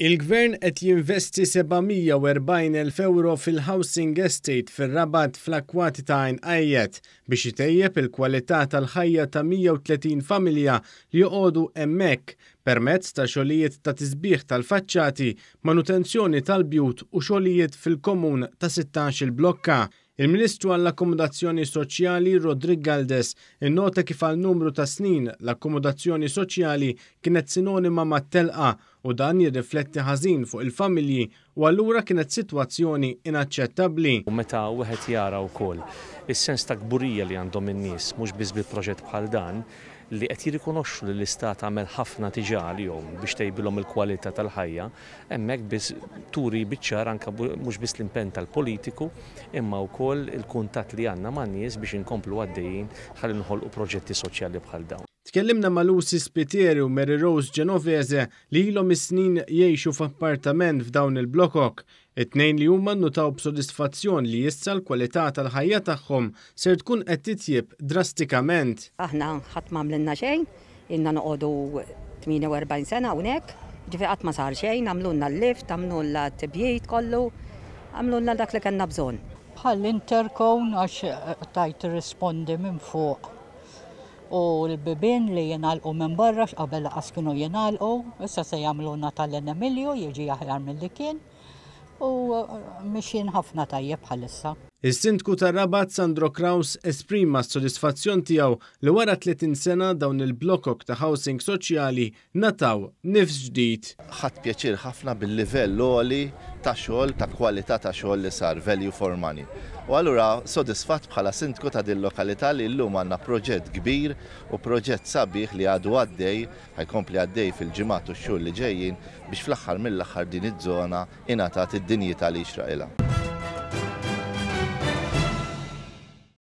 Il-Gvern qed jinvesti 740,000 ewro fil-Housing Estate fir-Rabat fl-akkwati ta' Għajn Qajjet biex itejjeb il-kwalità tal-ħajja ta' 130 familja li joqogħdu hemmhekk permezz ta' xogħlijiet ta' tisbiħ tal-faċċati, manutenzjoni tal-bjut u xogħlijiet fil-komun ta' 16-il blokka. Il-Ministru għall-Akkomodazzjoni Soċjali Roderick Galdes innota kif għal numru ta' snin l-akkomodazzjoni soċjali kienet sinonima mat-telqa u dan jirrifletti ħażin fuq il-familji u allura kienet sitwazzjoni inaċċettabbli. U meta wieħed jara wkoll is-sens ta' kburija li għandhom in-nies mhux biss bi proġett bħal dan, li qed jirrikonoxxu li l-Istat għamel ħafna diġà għalihom biex tejbilhom il-kwalità tal-ħajja, hemmhekk biss turi biċ-ċar anke mhux biss l-impenn tal-politiku imma wkoll il-kuntatt li għandna man-nies biex inkomplu għaddejjin ħalli noħolqu proġetti soċjali bħal dawn. Tkellimna ma' Lucy Spiteri u Mary Rose Genovese li ilhom is-snin jgħixu f'appartament f'dawn il-blokok. It-tnejn li huma nnutaw b'sodisfazzjon li issa l-kwalità tal-ħajja tagħhom ser tkun qed titjieb drastikament. Aħna ħadd m'għamlilna xejn, ilna noqogħdu 48 sena hawnhekk, jiġifieri qatt ma sar xejn, għamlulna l-lift, għamlulna t-tibjid kollu, għamlulna dak li kellna bżonn. Bħal intercone għax tajt tirrispondi minn fuq u l-bibien li jingħalqu minn barra għax qabel lanqas kienu jingħalqu, issa se jagħmlulna tal-Enemilju jiġi aħjar milli kien u mixjin ħafna tajjeb bħalissa. Is-Sindku tar-Rabat Sandro Craus esprima s-sodisfazzjon tiegħu li wara 30 sena dawn il-blokok ta' housing soċjali ngħataw nifs ġdid. Ħadt pjaċir ħafna bil-livell għoli ta' xogħol, ta' kwalità ta' xogħol li sar, value for money. U allura sodisfatt bħala sindku ta' din lokalità li llum għandna proġett kbir u proġett sabiħ li għadu għaddej, ħa jkompli għaddej fil-ġimgħat u x-xhur li ġejjin biex fl-aħħar mill-aħħar din iż-żona ingħatat id-dinjità li jixraqilha.